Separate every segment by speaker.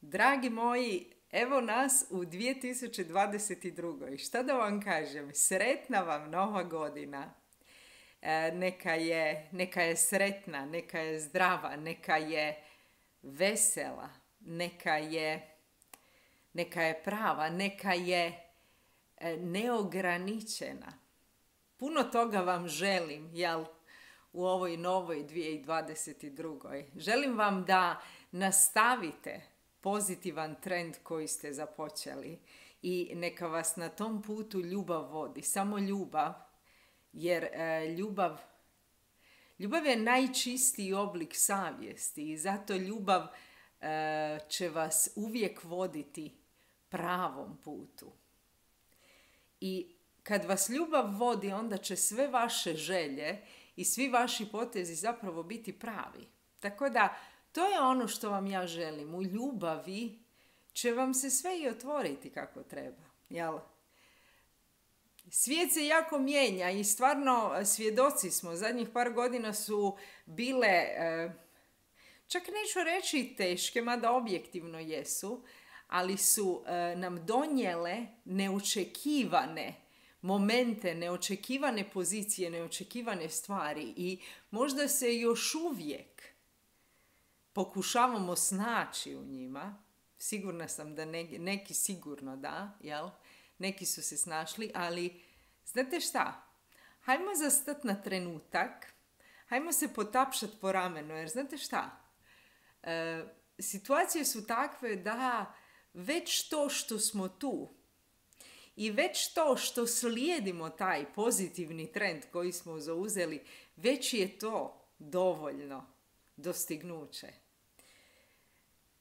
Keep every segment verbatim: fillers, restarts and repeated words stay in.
Speaker 1: Dragi moji, evo nas u dvije tisuće dvadeset druge. Šta da vam kažem? Sretna vam nova godina. E, neka je, neka je sretna, neka je zdrava, neka je vesela, neka je, neka je prava, neka je e, neograničena. Puno toga vam želim, jel, u ovoj novoj dvije tisuće dvadeset druge. Želim vam da nastavite pozitivan trend koji ste započeli i neka vas na tom putu ljubav vodi. Samo ljubav, jer e, ljubav, ljubav je najčistiji oblik savjesti i zato ljubav e, će vas uvijek voditi pravom putu. I kad vas ljubav vodi, onda će sve vaše želje i svi vaši potezi zapravo biti pravi. Tako da, to je ono što vam ja želim. U ljubavi će vam se sve i otvoriti kako treba. Jel? Svijet se jako mijenja i stvarno svjedoci smo. Zadnjih par godina su bile, čak neću reći teške, mada objektivno jesu, ali su nam donijele neočekivane momente, neočekivane pozicije, neočekivane stvari i možda se još uvijek pokušavamo snaći u njima. Sigurna sam da neki, neki sigurno da, jel? Neki su se snašli, ali znate šta? Hajmo zastati na trenutak, hajmo se potapšati po ramenu, jer znate šta? E, situacije su takve da već to što smo tu i već to što slijedimo taj pozitivni trend koji smo zauzeli, već je to dovoljno dostignuće.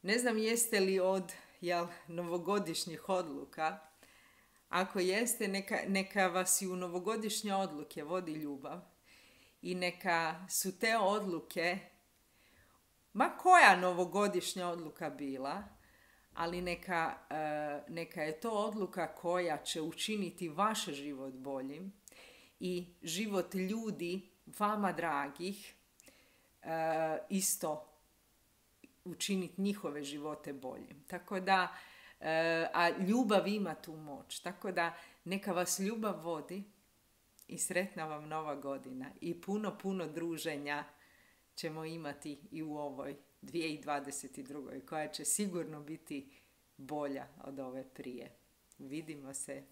Speaker 1: Ne znam jeste li od jel, novogodišnjih odluka. Ako jeste, neka, neka vas i u novogodišnje odluke vodi ljubav i neka su te odluke, ma koja novogodišnja odluka bila, ali neka, neka je to odluka koja će učiniti vaš život boljim i život ljudi, vama dragih, isto učiniti njihove živote boljim. Tako da, a ljubav ima tu moć. Tako da neka vas ljubav vodi i sretna vam nova godina. I puno, puno druženja ćemo imati i u ovoj dvije tisuće dvadeset druge. koja će sigurno biti bolja od ove prije. Vidimo se.